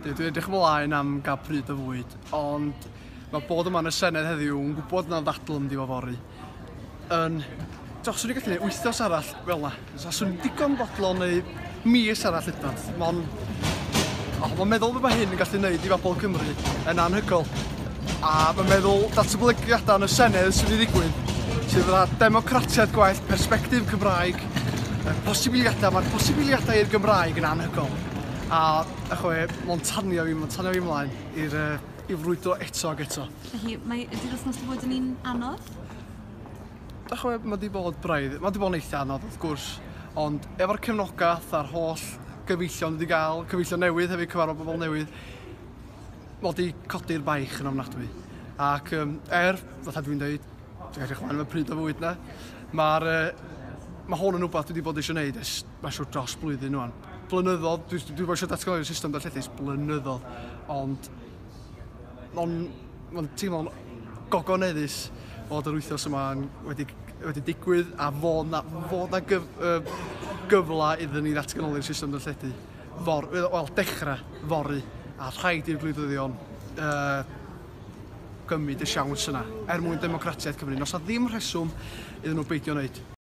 Dwi'n edrych ymlaen am gael pryd o fwyd, ond mae bod yma yn y Senedd heddiw yn gwybod na ddadl yn mynd i fod fory. Yn... Doch, swn i'n gallu gwneud wythnos arall fel yna. So, swn i'n digon bodlon neu mis arall hyd yn oed. Mae'n oh, ma meddwl be mae hyn yn gallu gwneud i bobl Cymru yn anhygoel. A mae'n meddwl datblygiadau yn y Senedd sy'n mynd i ddigwydd, sydd fatha democratiaeth gwell, persbectif Cymraeg, y posibiliadau, mae'r posibiliadau i'r Gymraeg yn anhygoel. A y chwe, mae'n tanio fi, mae'n tanio fi ymlaen i'r uh, i frwydro eto ac eto. Felly, mae ydy'r wythnos wedi bod yn un anodd? Da chwe, mae wedi bod braidd, mae wedi bod yn eitha anodd wrth gwrs, ond efo'r cefnogaeth a'r holl gyfeillion wedi gael, cyfeillion newydd hefyd, cyfarfod bobl newydd, mae wedi codi'r baich yn ofnadwy. Ac um, er, fatha dwi'n dweud, dwi'n edrych ymlaen am y pryd o fwyd na, mae'r uh, mae hwn yn rhywbeth dwi wedi bod eisiau gwneud ers, mae'n siŵr, dros blwyddyn rwan. Blynyddodd, dwi, dwi wedi bod eisiau datganoli'r system darlledu ers blynyddodd, ond mae'n ma teimlo'n gogoneddus fod yr wythnos yma wedi, wedi digwydd a fod na, fod na gyf, uh, gyfle iddyn ni ddatganoli'r system darlledu. For, wel, dechrau fory, a rhaid i'r gwleidyddion uh, gymryd y siawns yna er mwyn democratiaeth Cymru. Nos na ddim rheswm iddyn nhw beidio wneud.